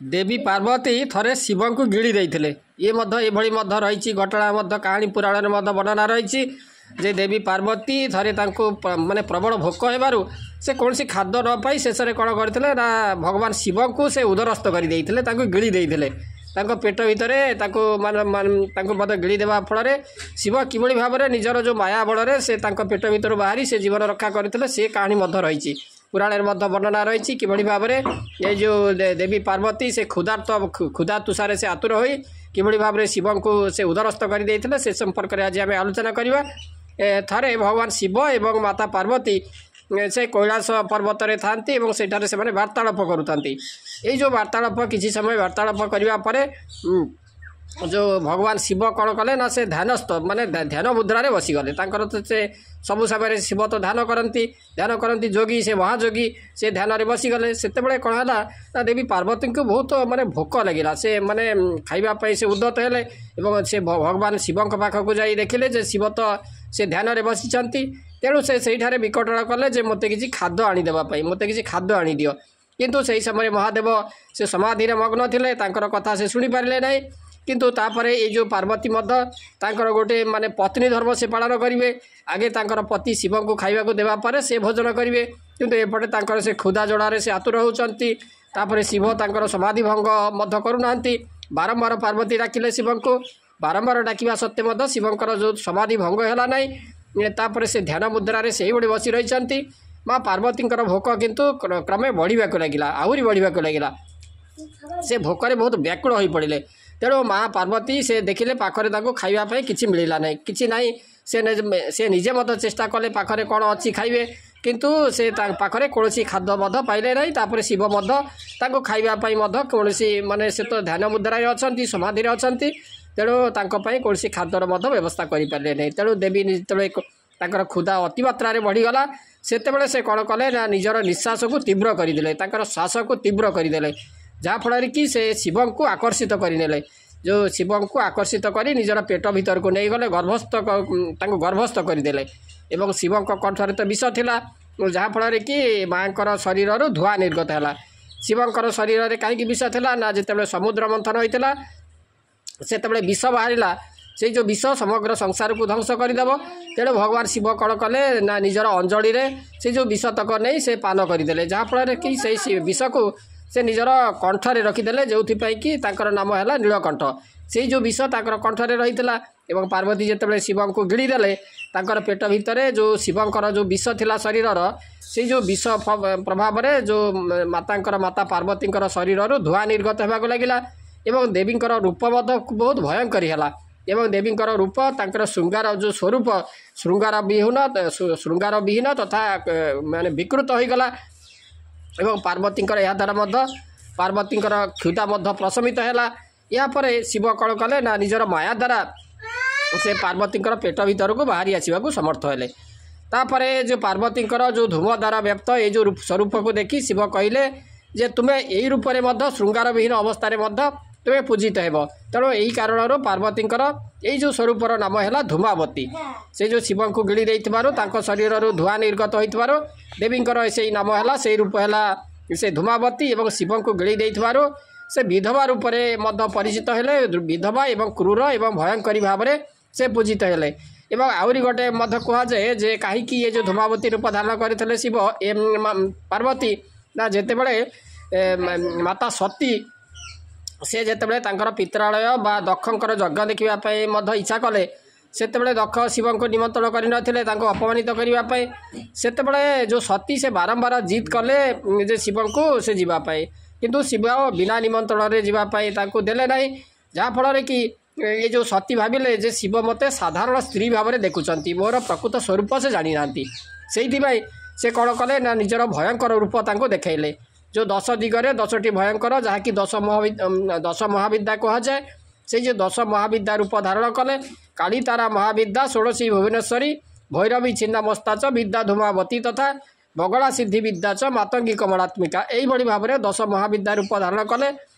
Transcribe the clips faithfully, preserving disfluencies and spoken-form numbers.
ଦେବୀ ପାର୍ବତୀ ଥରେ ଶିବଙ୍କୁ ଗିଳି ଦେଇଥିଲେ। ଇଏ ମଧ୍ୟ ଏଭଳି ମଧ୍ୟ ରହିଛି ଘଟଣା, ମଧ୍ୟ କାହାଣୀ ପୁରାଣରେ ମଧ୍ୟ ବର୍ଣ୍ଣନା ରହିଛି ଯେ ଦେବୀ ପାର୍ବତୀ ଥରେ ତାଙ୍କୁ ମାନେ ପ୍ରବଳ ଭୋକ ହେବାରୁ ସେ କୌଣସି ଖାଦ୍ୟ ନ ପାଇ ଶେଷରେ କ'ଣ କରିଥିଲେ ନା ଭଗବାନ ଶିବଙ୍କୁ ସେ ଉଦରସ୍ଥ କରିଦେଇଥିଲେ, ତାଙ୍କୁ ଗିଳି ଦେଇଥିଲେ। ତାଙ୍କ ପେଟ ଭିତରେ ତାଙ୍କୁ ମାନେ ତାଙ୍କୁ ମଧ୍ୟ ଗିଳି ଦେବା ଫଳରେ ଶିବ କିଭଳି ଭାବରେ ନିଜର ଯେଉଁ ମାୟା ବଳରେ ସେ ତାଙ୍କ ପେଟ ଭିତରୁ ବାହାରି ସେ ଜୀବନ ରକ୍ଷା କରିଥିଲେ, ସେ କାହାଣୀ ମଧ୍ୟ ରହିଛି। ପୁରାଣରେ ମଧ୍ୟ ବର୍ଣ୍ଣନା ରହିଛି କିଭଳି ଭାବରେ ଏଇ ଯେଉଁ ଦେବୀ ପାର୍ବତୀ ସେ କ୍ଷୁଧାର୍ତ କ୍ଷୁଧା ତୁଷାରେ ସେ ଆତୁର ହୋଇ କିଭଳି ଭାବରେ ଶିବଙ୍କୁ ସେ ଉଦରସ୍ଥ କରିଦେଇଥିଲେ, ସେ ସମ୍ପର୍କରେ ଆଜି ଆମେ ଆଲୋଚନା କରିବା। ଥରେ ଭଗବାନ ଶିବ ଏବଂ ମାତା ପାର୍ବତୀ ସେ କୈଳାସ ପର୍ବତରେ ଥାନ୍ତି ଏବଂ ସେଠାରେ ସେମାନେ ବାର୍ତ୍ତାଳାପ କରୁଥାନ୍ତି। ଏଇ ଯେଉଁ ବାର୍ତ୍ତାଳାପ, କିଛି ସମୟ ବାର୍ତ୍ତାଳାପ କରିବା ପରେ ଯେଉଁ ଭଗବାନ ଶିବ କ'ଣ କଲେ ନା ସେ ଧ୍ୟାନସ୍ଥ ମାନେ ଧ୍ୟାନ ମୁଦ୍ରାରେ ବସିଗଲେ। ତାଙ୍କର ତ ସେ ସବୁ ସମୟରେ ଶିବ ତ ଧ୍ୟାନ କରନ୍ତି, ଧ୍ୟାନ କରନ୍ତି ଯୋଗୀ, ସେ ମହାଯୋଗୀ, ସେ ଧ୍ୟାନରେ ବସିଗଲେ। ସେତେବେଳେ କ'ଣ ହେଲା ନା ଦେବୀ ପାର୍ବତୀଙ୍କୁ ବହୁତ ମାନେ ଭୋକ ଲାଗିଲା। ସେ ମାନେ ଖାଇବା ପାଇଁ ସେ ଉଦ୍ୟତ ହେଲେ ଏବଂ ସେ ଭଗବାନ ଶିବଙ୍କ ପାଖକୁ ଯାଇ ଦେଖିଲେ ଯେ ଶିବ ତ ସେ ଧ୍ୟାନରେ ବସିଛନ୍ତି। ତେଣୁ ସେ ସେଇଠାରେ ବିକଟଳ କଲେ ଯେ ମୋତେ କିଛି ଖାଦ୍ୟ ଆଣିଦେବା ପାଇଁ, ମୋତେ କିଛି ଖାଦ୍ୟ ଆଣିଦିଅ। କିନ୍ତୁ ସେହି ସମୟରେ ମହାଦେବ ସେ ସମାଧିରେ ମଗ୍ନ ଥିଲେ, ତାଙ୍କର କଥା ସେ ଶୁଣିପାରିଲେ ନାହିଁ। କିନ୍ତୁ ତାପରେ ଏଇ ଯେଉଁ ପାର୍ବତୀ ମଧ୍ୟ ତାଙ୍କର ଗୋଟେ ମାନେ ପତ୍ନୀ ଧର୍ମ ସେ ପାଳନ କରିବେ, ଆଗେ ତାଙ୍କର ପତି ଶିବଙ୍କୁ ଖାଇବାକୁ ଦେବା ପରେ ସେ ଭୋଜନ କରିବେ। କିନ୍ତୁ ଏପଟେ ତାଙ୍କର ସେ କ୍ଷୁଧା ଜଡ଼ାରେ ସେ ଆତୁର ହେଉଛନ୍ତି। ତାପରେ ଶିବ ତାଙ୍କର ସମାଧି ଭଙ୍ଗ ମଧ୍ୟ କରୁନାହାନ୍ତି। ବାରମ୍ବାର ପାର୍ବତୀ ଡାକିଲେ ଶିବଙ୍କୁ, ବାରମ୍ବାର ଡାକିବା ସତ୍ତ୍ୱେ ମଧ୍ୟ ଶିବଙ୍କର ଯେଉଁ ସମାଧି ଭଙ୍ଗ ହେଲା ନାହିଁ। ତାପରେ ସେ ଧ୍ୟାନ ମୁଦ୍ରାରେ ସେଇଭଳି ବସି ରହିଛନ୍ତି। ମା ପାର୍ବତୀଙ୍କର ଭୋକ କିନ୍ତୁ କ୍ରମେ ବଢ଼ିବାକୁ ଲାଗିଲା, ଆହୁରି ବଢ଼ିବାକୁ ଲାଗିଲା। ସେ ଭୋକରେ ବହୁତ ବ୍ୟାକୁଳ ହୋଇପଡ଼ିଲେ। ତେଣୁ ମା ପାର୍ବତୀ ସେ ଦେଖିଲେ ପାଖରେ ତାଙ୍କୁ ଖାଇବା ପାଇଁ କିଛି ମିଳିଲା ନାହିଁ, କିଛି ନାହିଁ। ସେ ସେ ନିଜେ ମଧ୍ୟ ଚେଷ୍ଟା କଲେ ପାଖରେ କ'ଣ ଅଛି ଖାଇବେ, କିନ୍ତୁ ସେ ତାଙ୍କ ପାଖରେ କୌଣସି ଖାଦ୍ୟ ମଧ୍ୟ ପାଇଲେ ନାହିଁ। ତାପରେ ଶିବ ମଧ୍ୟ ତାଙ୍କୁ ଖାଇବା ପାଇଁ ମଧ୍ୟ କୌଣସି ମାନେ ସେ ତ ଧ୍ୟାନ ମୁଦ୍ରାରେ ଅଛନ୍ତି, ସମାଧିରେ ଅଛନ୍ତି, ତେଣୁ ତାଙ୍କ ପାଇଁ କୌଣସି ଖାଦ୍ୟର ମଧ୍ୟ ବ୍ୟବସ୍ଥା କରିପାରିଲେ ନାହିଁ। ତେଣୁ ଦେବୀ ଯେତେବେଳେ ତାଙ୍କର କ୍ଷୁଧା ଅତିମାତ୍ରାରେ ବଢ଼ିଗଲା, ସେତେବେଳେ ସେ କ'ଣ କଲେ ନା ନିଜର ନିଶ୍ୱାସକୁ ତୀବ୍ର କରିଦେଲେ, ତାଙ୍କର ଶ୍ୱାସକୁ ତୀବ୍ର କରିଦେଲେ, ଯାହାଫଳରେ କି ସେ ଶିବଙ୍କୁ ଆକର୍ଷିତ କରିନେଲେ। ଯେଉଁ ଶିବଙ୍କୁ ଆକର୍ଷିତ କରି ନିଜର ପେଟ ଭିତରକୁ ନେଇଗଲେ, ଗର୍ଭସ୍ଥ ତାଙ୍କୁ ଗର୍ଭସ୍ଥ କରିଦେଲେ। ଏବଂ ଶିବଙ୍କ କଣ୍ଠରେ ତ ବିଷ ଥିଲା, ଯାହାଫଳରେ କି ମାଆଙ୍କର ଶରୀରରୁ ଧୂଆଁ ନିର୍ଗତ ହେଲା। ଶିବଙ୍କର ଶରୀରରେ କାହିଁକି ବିଷ ଥିଲା ନା ଯେତେବେଳେ ସମୁଦ୍ର ମନ୍ଥନ ହୋଇଥିଲା ସେତେବେଳେ ବିଷ ବାହାରିଲା, ସେଇ ଯେଉଁ ବିଷ ସମଗ୍ର ସଂସାରକୁ ଧ୍ୱଂସ କରିଦେବ। ତେଣୁ ଭଗବାନ ଶିବ କ'ଣ କଲେ ନା ନିଜର ଅଞ୍ଜଳିରେ ସେ ଯେଉଁ ବିଷତକ ନେଇ ସେ ପାନ କରିଦେଲେ, ଯାହାଫଳରେ କି ସେଇ ବିଷକୁ ସେ ନିଜର କଣ୍ଠରେ ରଖିଦେଲେ, ଯେଉଁଥିପାଇଁ କି ତାଙ୍କର ନାମ ହେଲା ନୀଳକଣ୍ଠ। ସେଇ ଯେଉଁ ବିଷ ତାଙ୍କର କଣ୍ଠରେ ରହିଥିଲା ଏବଂ ପାର୍ବତୀ ଯେତେବେଳେ ଶିବଙ୍କୁ ଗିଳିଦେଲେ, ତାଙ୍କର ପେଟ ଭିତରେ ଯେଉଁ ଶିବଙ୍କର ଯେଉଁ ବିଷ ଥିଲା ଶରୀରର, ସେଇ ଯେଉଁ ବିଷ ପ୍ରଭାବରେ ଯେଉଁ ମାତାଙ୍କର ମାତା ପାର୍ବତୀଙ୍କର ଶରୀରରୁ ଧୂଆଁ ନିର୍ଗତ ହେବାକୁ ଲାଗିଲା ଏବଂ ଦେବୀଙ୍କର ରୂପ ମଧ୍ୟ ବହୁତ ଭୟଙ୍କରୀ ହେଲା। ଏବଂ ଦେବୀଙ୍କର ରୂପ ତାଙ୍କର ଶୃଙ୍ଗାର ଯେଉଁ ସ୍ୱରୂପ ଶୃଙ୍ଗାର ବିହୀନ ଶୃଙ୍ଗାର ବିହୀନ ତଥା ମାନେ ବିକୃତ ହୋଇଗଲା। ଏବଂ ପାର୍ବତୀଙ୍କର ଏହାଦ୍ୱାରା ମଧ୍ୟ ପାର୍ବତୀଙ୍କର କ୍ଷୁଧା ମଧ୍ୟ ପ୍ରଶମିତ ହେଲା। ଏହାପରେ ଶିବ କ'ଣ କଲେ ନା ନିଜର ମାୟା ଦ୍ୱାରା ସେ ପାର୍ବତୀଙ୍କର ପେଟ ଭିତରକୁ ବାହାରି ଆସିବାକୁ ସମର୍ଥ ହେଲେ। ତାପରେ ଯେଉଁ ପାର୍ବତୀଙ୍କର ଯେଉଁ ଧୂମ ଦ୍ୱାରା ବ୍ୟାପ୍ତ ଏଇ ଯେଉଁ ସ୍ୱରୂପକୁ ଦେଖି ଶିବ କହିଲେ ଯେ ତୁମେ ଏଇ ରୂପରେ ମଧ୍ୟ ଶୃଙ୍ଗାର ବିହୀନ ଅବସ୍ଥାରେ ମଧ୍ୟ ତୁମେ ପୂଜିତ ହେବ। ତେଣୁ ଏହି କାରଣରୁ ପାର୍ବତୀଙ୍କର ଏଇ ଯେଉଁ ସ୍ୱରୂପର ନାମ ହେଲା ଧୂମାବତୀ। ସେ ଯେଉଁ ଶିବଙ୍କୁ ଗିଳି ଦେଇଥିବାରୁ ତାଙ୍କ ଶରୀରରୁ ଧୂଆଁ ନିର୍ଗତ ହୋଇଥିବାରୁ ଦେବୀଙ୍କର ସେଇ ନାମ ହେଲା, ସେଇ ରୂପ ହେଲା ସେ ଧୂମାବତୀ। ଏବଂ ଶିବଙ୍କୁ ଗିଳି ଦେଇଥିବାରୁ ସେ ବିଧବା ରୂପରେ ମଧ୍ୟ ପରିଚିତ ହେଲେ, ବିଧବା ଏବଂ କ୍ରୂର ଏବଂ ଭୟଙ୍କରୀ ଭାବରେ ସେ ପୂଜିତ ହେଲେ। ଏବଂ ଆହୁରି ଗୋଟେ ମଧ୍ୟ କୁହାଯାଏ ଯେ କାହିଁକି ଏ ଯେଉଁ ଧୂମାବତୀ ରୂପ ଧାରଣ କରିଥିଲେ ଶିବ ଏ ପାର୍ବତୀ ନା ଯେତେବେଳେ ମାତା ସତୀ ସେ ଯେତେବେଳେ ତାଙ୍କର ପିତ୍ରାଳୟ ବା ଦକ୍ଷଙ୍କର ଯଜ୍ଞ ଦେଖିବା ପାଇଁ ମଧ୍ୟ ଇଚ୍ଛା କଲେ, ସେତେବେଳେ ଦକ୍ଷ ଶିବଙ୍କୁ ନିମନ୍ତ୍ରଣ କରିନଥିଲେ ତାଙ୍କୁ ଅପମାନିତ କରିବା ପାଇଁ। ସେତେବେଳେ ଯେଉଁ ସତୀ ସେ ବାରମ୍ବାର ଜିଦ୍ କଲେ ଯେ ଶିବଙ୍କୁ ସେ ଯିବା ପାଇଁ, କିନ୍ତୁ ଶିବ ବିନା ନିମନ୍ତ୍ରଣରେ ଯିବା ପାଇଁ ତାଙ୍କୁ ଦେଲେ ନାହିଁ। ଯାହାଫଳରେ କି ଏ ଯେଉଁ ସତୀ ଭାବିଲେ ଯେ ଶିବ ମୋତେ ସାଧାରଣ ସ୍ତ୍ରୀ ଭାବରେ ଦେଖୁଛନ୍ତି, ମୋର ପ୍ରକୃତ ସ୍ୱରୂପ ସେ ଜାଣିନାହାନ୍ତି। ସେଇଥିପାଇଁ ସେ କ'ଣ କଲେ ନା ନିଜର ଭୟଙ୍କର ରୂପ ତାଙ୍କୁ ଦେଖାଇଲେ। ଯେଉଁ ଦଶ ଦିଗରେ ଦଶଟି ଭୟଙ୍କର, ଯାହାକି ଦଶ ମହାବି ଦଶ ମହାବିଦ୍ୟା କୁହାଯାଏ, ସେଇ ଯେଉଁ ଦଶ ମହାବିଦ୍ୟା ରୂପ ଧାରଣ କଲେ। କାଳୀତାରା ମହାବିଦ୍ୟା, ଷୋଡ଼ଶୀ ଭୁବନେଶ୍ୱରୀ, ଭୈରବୀ ଛିନ୍ନାମସ୍ତା ଚ ବିଦ୍ୟା ଧୂମାବତୀ ତଥା ବଗଳା ସିଦ୍ଧି ବିଦ୍ୟା ଚ ମାତଙ୍ଗୀ କମଳାତ୍ମିକା, ଏଇଭଳି ଭାବରେ ଦଶ ମହାବିଦ୍ୟା ରୂପ ଧାରଣ କଲେ।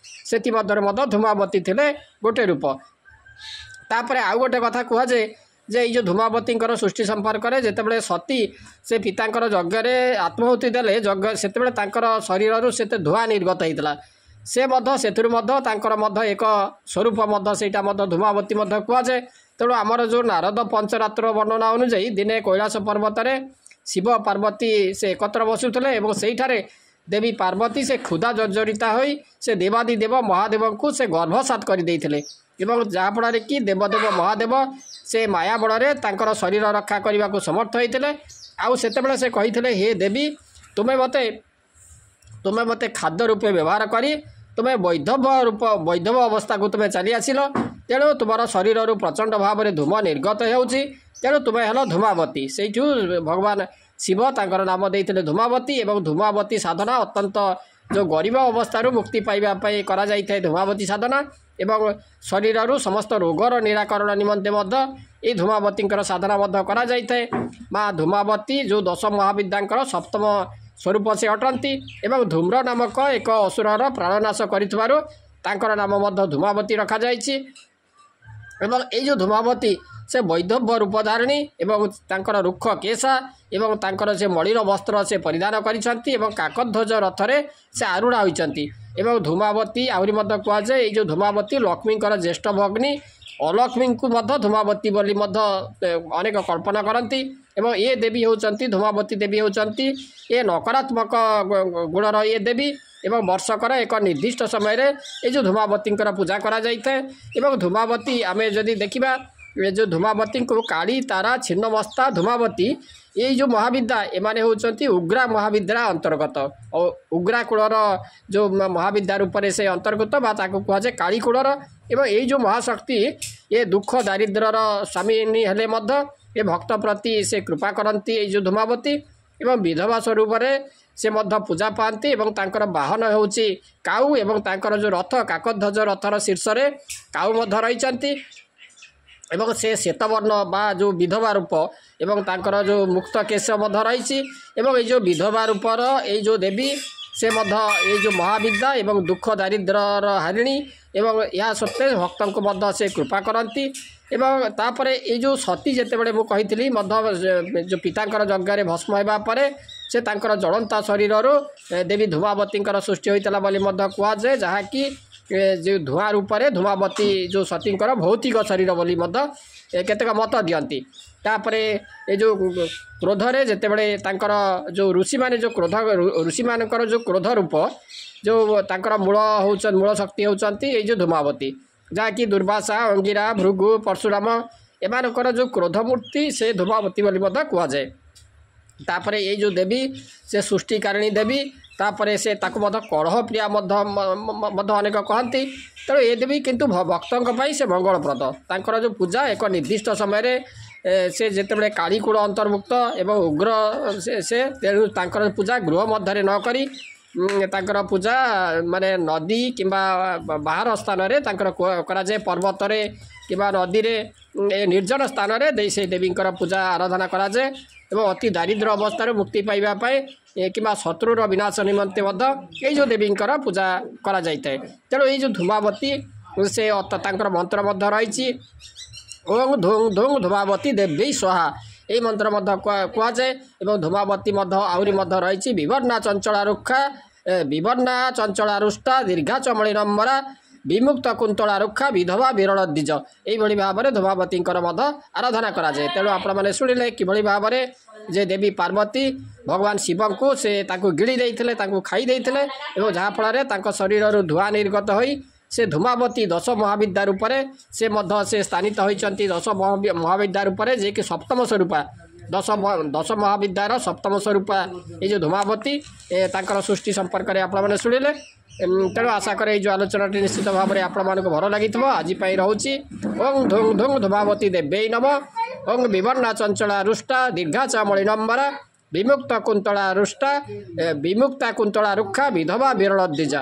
ସେଥିମଧ୍ୟରେ ମଧ୍ୟ ଧୂମାବତୀ ଥିଲେ ଗୋଟେ ରୂପ। ତାପରେ ଆଉ ଗୋଟେ କଥା କୁହାଯାଏ ଯେ ଏଇ ଯେଉଁ ଧୂମାବତୀଙ୍କର ସୃଷ୍ଟି ସମ୍ପର୍କରେ ଯେତେବେଳେ ସତୀ ସେ ପିତାଙ୍କର ଯଜ୍ଞରେ ଆତ୍ମାହୁତି ଦେଲେ ଯଜ୍ଞ, ସେତେବେଳେ ତାଙ୍କର ଶରୀରରୁ ସେତେ ଧୂଆଁ ନିର୍ଗତ ହେଇଥିଲା। ସେ ମଧ୍ୟ ସେଥିରୁ ମଧ୍ୟ ତାଙ୍କର ମଧ୍ୟ ଏକ ସ୍ୱରୂପ ମଧ୍ୟ ସେଇଟା ମଧ୍ୟ ଧୂମାବତୀ ମଧ୍ୟ କୁହାଯାଏ। ତେଣୁ ଆମର ଯେଉଁ ନାରଦ ପଞ୍ଚରାତ୍ର ବର୍ଣ୍ଣନା ଅନୁଯାୟୀ ଦିନେ କୈଳାସ ପର୍ବତରେ ଶିବ ପାର୍ବତୀ ସେ ଏକତ୍ର ବସୁଥିଲେ ଏବଂ ସେଇଠାରେ ଦେବୀ ପାର୍ବତୀ ସେ କ୍ଷୁଧା ଜର୍ଜରିତା ହୋଇ ସେ ଦେବାଦିଦେବ ମହାଦେବଙ୍କୁ ସେ ଗର୍ଭସାତ କରିଦେଇଥିଲେ ଏବଂ ଯାହାଫଳରେ କି ଦେବଦେବ ମହାଦେବ ସେ ମାୟା ବଳରେ ତାଙ୍କର ଶରୀର ରକ୍ଷା କରିବାକୁ ସମର୍ଥ ହୋଇଥିଲେ। ଆଉ ସେତେବେଳେ ସେ କହିଥିଲେ, ହେ ଦେବୀ, ତୁମେ ମୋତେ ତୁମେ ମୋତେ ଖାଦ୍ୟ ରୂପେ ବ୍ୟବହାର କରି ତୁମେ ବୈଧବ ରୂପ ବୈଧବ ଅବସ୍ଥାକୁ ତୁମେ ଚାଲି ଆସିଲ, ତେଣୁ ତୁମର ଶରୀରରୁ ପ୍ରଚଣ୍ଡ ଭାବରେ ଧୂମ ନିର୍ଗତ ହେଉଛି, ତେଣୁ ତୁମେ ହେଲ ଧୂମାବତୀ। ସେଇଠୁ ଭଗବାନ ଶିବ ତାଙ୍କର ନାମ ଦେଇଥିଲେ ଧୂମାବତୀ। ଏବଂ ଧୂମାବତୀ ସାଧନା ଅତ୍ୟନ୍ତ ଯେଉଁ ଗରିବ ଅବସ୍ଥାରୁ ମୁକ୍ତି ପାଇବା ପାଇଁ କରାଯାଇଥାଏ ଧୂମାବତୀ ସାଧନା, ଏବଂ ଶରୀରରୁ ସମସ୍ତ ରୋଗର ନିରାକରଣ ନିମନ୍ତେ ମଧ୍ୟ ଏଇ ଧୂମାବତୀଙ୍କର ସାଧନା ମଧ୍ୟ କରାଯାଇଥାଏ। ମା ଧୂମାବତୀ ଯେଉଁ ଦଶ ମହାବିଦ୍ୟାଙ୍କର ସପ୍ତମ ସ୍ୱରୂପ ସେ ଅଟନ୍ତି ଏବଂ ଧୂମ୍ର ନାମକ ଏକ ଅସୁରର ପ୍ରାଣନାଶ କରିଥିବାରୁ ତାଙ୍କର ନାମ ମଧ୍ୟ ଧୂମାବତୀ ରଖାଯାଇଛି। ଏବଂ ଏଇ ଯେଉଁ ଧୂମାବତୀ ସେ ବୈଧବ୍ୟ ରୂପଧାରିଣୀ ଏବଂ ତାଙ୍କର ରୁକ୍ଷ କେଶା ଏବଂ ତାଙ୍କର ସେ ମଳିନ ବସ୍ତ୍ର ସେ ପରିଧାନ କରିଛନ୍ତି ଏବଂ କାକଧ୍ୱଜ ରଥରେ ସେ ଆରୁଢ଼ ହୋଇଛନ୍ତି। ଏବଂ ଧୂମାବତୀ ଆହୁରି ମଧ୍ୟ କୁହାଯାଏ, ଏଇ ଯେଉଁ ଧୂମାବତୀ ଲକ୍ଷ୍ମୀଙ୍କର ଜ୍ୟେଷ୍ଠ ଭଗ୍ନୀ ଅଲକ୍ଷ୍ମୀଙ୍କୁ ମଧ୍ୟ ଧୂମାବତୀ ବୋଲି ମଧ୍ୟ ଅନେକ କଳ୍ପନା କରନ୍ତି। ଏବଂ ଏ ଦେବୀ ହେଉଛନ୍ତି ଧୂମାବତୀ ଦେବୀ ହେଉଛନ୍ତି ଏ ନକାରାତ୍ମକ ଗୁଣର ଏ ଦେବୀ ଏବଂ ବର୍ଷକର ଏକ ନିର୍ଦ୍ଦିଷ୍ଟ ସମୟରେ ଏ ଯେଉଁ ଧୂମାବତୀଙ୍କର ପୂଜା କରାଯାଇଥାଏ। ଏବଂ ଧୂମାବତୀ ଆମେ ଯଦି ଦେଖିବା, ଏ ଯେଉଁ ଧୂମାବତୀଙ୍କୁ କାଳୀ, ତାରା, ଛିନ୍ନମସ୍ତା, ଧୂମାବତୀ ଏଇ ଯେଉଁ ମହାବିଦ୍ୟା ଏମାନେ ହେଉଛନ୍ତି ଉଗ୍ରା ମହାବିଦ୍ୟା ଅନ୍ତର୍ଗତ। ଓ ଉଗ୍ରା କୂଳର ଯେଉଁ ମହାବିଦ୍ୟା ରୂପରେ ସେ ଅନ୍ତର୍ଗତ ବା ତାକୁ କୁହାଯାଏ କାଳୀ କୂଳର। ଏବଂ ଏଇ ଯେଉଁ ମହାଶକ୍ତି ଏ ଦୁଃଖ ଦାରିଦ୍ର୍ୟର ସ୍ୱାମିନୀ ହେଲେ ମଧ୍ୟ ଏ ଭକ୍ତ ପ୍ରତି ସେ କୃପା କରନ୍ତି ଏଇ ଯେଉଁ ଧୂମାବତୀ। ଏବଂ ବିଧବା ସ୍ୱରୂପରେ ସେ ମଧ୍ୟ ପୂଜା ପାଆନ୍ତି ଏବଂ ତାଙ୍କର ବାହନ ହେଉଛି କାଉ ଏବଂ ତାଙ୍କର ଯେଉଁ ରଥ କାକଧ୍ୱଜ ରଥର ଶୀର୍ଷରେ କାଉ ମଧ୍ୟ ରହିଛନ୍ତି। ଏବଂ ସେ ଶ୍ଵେତବର୍ଣ୍ଣ ବା ଯେଉଁ ବିଧବା ରୂପ ଏବଂ ତାଙ୍କର ଯେଉଁ ମୁକ୍ତ କେଶ ମଧ୍ୟ ରହିଛି। ଏବଂ ଏଇ ଯେଉଁ ବିଧବା ରୂପର ଏଇ ଯେଉଁ ଦେବୀ ସେ ମଧ୍ୟ ଏଇ ଯେଉଁ ମହାବିଦ୍ୟା ଏବଂ ଦୁଃଖ ଦାରିଦ୍ର୍ୟର ହାରିଣୀ ଏବଂ ଏହା ସତ୍ତ୍ୱେ ଭକ୍ତଙ୍କୁ ମଧ୍ୟ ସେ କୃପା କରନ୍ତି। ଏବଂ ତାପରେ ଏଇ ଯେଉଁ ସତୀ ଯେତେବେଳେ ମୁଁ କହିଥିଲି ମଧ୍ୟ ଯେଉଁ ପିତାଙ୍କର ଯଜ୍ଞରେ ଭସ୍ମ ହେବା ପରେ ସେ ତାଙ୍କର ଜଳନ୍ତା ଶରୀରରୁ ଦେବୀ ଧୂମାବତୀଙ୍କର ସୃଷ୍ଟି ହୋଇଥିଲା ବୋଲି ମଧ୍ୟ କୁହାଯାଏ, ଯାହାକି ଯେଉଁ ଧୂଆଁ ରୂପରେ ଧୂମାବତୀ ଯେଉଁ ସତୀଙ୍କର ଭୌତିକ ଶରୀର ବୋଲି ମଧ୍ୟ କେତେକ ମତ ଦିଅନ୍ତି। ତାପରେ ଏ ଯେଉଁ କ୍ରୋଧରେ ଯେତେବେଳେ ତାଙ୍କର ଯେଉଁ ଋଷିମାନେ ଯେଉଁ କ୍ରୋଧ ଋଷିମାନଙ୍କର ଯେଉଁ କ୍ରୋଧ ରୂପ ଯେଉଁ ତାଙ୍କର ମୂଳ ହେଉଛନ୍ତି ମୂଳ ଶକ୍ତି ହେଉଛନ୍ତି ଏଇ ଯେଉଁ ଧୂମାବତୀ, ଯାହାକି ଦୁର୍ବାସା, ଅଙ୍ଗିରା, ଭୃଗୁ, ପରଶୁରାମ ଏମାନଙ୍କର ଯେଉଁ କ୍ରୋଧମୂର୍ତ୍ତି ସେ ଧୂମାବତୀ ବୋଲି ମଧ୍ୟ କୁହାଯାଏ। ତାପରେ ଏଇ ଯେଉଁ ଦେବୀ ସେ ସୃଷ୍ଟିକାରିଣୀ ଦେବୀ, ତାପରେ ସେ ତାକୁ ମଧ୍ୟ କଳହ ପ୍ରିୟା ମଧ୍ୟ ମଧ୍ୟ ଅନେକ କହନ୍ତି। ତେଣୁ ଏ ଦେବୀ କିନ୍ତୁ ଭକ୍ତଙ୍କ ପାଇଁ ସେ ମଙ୍ଗଳପ୍ରଦ। ତାଙ୍କର ଯେଉଁ ପୂଜା ଏକ ନିର୍ଦ୍ଦିଷ୍ଟ ସମୟରେ ସେ ଯେତେବେଳେ କାଳୀକୂଳ ଅନ୍ତର୍ଭୁକ୍ତ ଏବଂ ଉଗ୍ର ସେ ସେ ତେଣୁ ତାଙ୍କର ପୂଜା ଗୃହ ମଧ୍ୟରେ ନ କରି ତାଙ୍କର ପୂଜା ମାନେ ନଦୀ କିମ୍ବା ବାହାର ସ୍ଥାନରେ ତାଙ୍କର କରାଯାଏ, ପର୍ବତରେ କିମ୍ବା ନଦୀରେ ଏ ନିର୍ଜନ ସ୍ଥାନରେ ଦେଇ ସେଇ ଦେବୀଙ୍କର ପୂଜା ଆରାଧନା କରାଯାଏ। ଏବଂ ଅତି ଦାରିଦ୍ର୍ୟ ଅବସ୍ଥାରୁ ମୁକ୍ତି ପାଇବା ପାଇଁ କିମ୍ବା ଶତ୍ରୁର ବିନାଶ ନିମନ୍ତେ ମଧ୍ୟ ଏଇ ଯେଉଁ ଦେବୀଙ୍କର ପୂଜା କରାଯାଇଥାଏ। ତେଣୁ ଏଇ ଯେଉଁ ଧୂମାବତୀ ସେ ତାଙ୍କର ମନ୍ତ୍ର ମଧ୍ୟ ରହିଛି, ଓଁ ଧୁଂ ଧୁଂ ଧୂମାବତୀ ଦେବୀ ସ୍ୱାହା, ଏଇ ମନ୍ତ୍ର ମଧ୍ୟ କୁହାଯାଏ। ଏବଂ ଧୂମାବତୀ ମଧ୍ୟ ଆହୁରି ମଧ୍ୟ ରହିଛି, ବିବର୍ଣ୍ଣା ଚଞ୍ଚଳା ରୁକ୍ଷା ବିବର୍ଣ୍ଣା ଚଞ୍ଚଳା ରୁଷ୍ଟା ଦୀର୍ଘା ଚମଳି ନମ୍ବରା ବିମୁକ୍ତ କୁନ୍ତଳା ରୁକ୍ଷା ବିଧବା ବିରଳ ଦ୍ୱିଜ, ଏଇଭଳି ଭାବରେ ଧୂମାବତୀଙ୍କର ମଧ୍ୟ ଆରାଧନା କରାଯାଏ। ତେଣୁ ଆପଣମାନେ ଶୁଣିଲେ କିଭଳି ଭାବରେ ଯେ ଦେବୀ ପାର୍ବତୀ ଭଗବାନ ଶିବଙ୍କୁ ସେ ତାଙ୍କୁ ଗିଳି ଦେଇଥିଲେ, ତାଙ୍କୁ ଖାଇ ଦେଇଥିଲେ ଏବଂ ଯାହାଫଳରେ ତାଙ୍କ ଶରୀରରୁ ଧୂଆଁ ନିର୍ଗତ ହୋଇ ସେ ଧୂମାବତୀ ଦଶ ମହାବିଦ୍ୟା ରୂପରେ ସେ ମଧ୍ୟ ସେ ସ୍ଥାନିତ ହୋଇଛନ୍ତି ଦଶ ମହାବିଦ୍ୟା ରୂପରେ, ଯିଏକି ସପ୍ତମ ସ୍ୱରୂପା ଦଶ ଦଶ ମହାବିଦ୍ୟାର ସପ୍ତମ ସ୍ୱରୂପା ଏଇ ଯେଉଁ ଧୂମାବତୀ ତାଙ୍କର ସୃଷ୍ଟି ସମ୍ପର୍କରେ ଆପଣମାନେ ଶୁଣିଲେ। ତେଣୁ ଆଶା କରେ ଏଇ ଯେଉଁ ଆଲୋଚନାଟି ନିଶ୍ଚିତ ଭାବରେ ଆପଣମାନଙ୍କୁ ଭଲ ଲାଗିଥିବ। ଆଜି ପାଇଁ ରହୁଛି। ଓଁ ଧୁଂ ଧୁଂ ଧୂମାବତୀ ଦେବ୍ୟୈ ନମଃ। ଓଁ ବିବର୍ଣ୍ଣା ଚଞ୍ଚଳା ରୁଷ୍ଟା ଦୀର୍ଘା ଚାମଳି ନମ୍ବରା ବିମୁକ୍ତ କୁନ୍ତଳା ରୁଷ୍ଟା ବିମୁକ୍ତା କୁନ୍ତଳା ରୁକ୍ଷା ବିଧବା ବିରଳ ଦ୍ୱିଜା।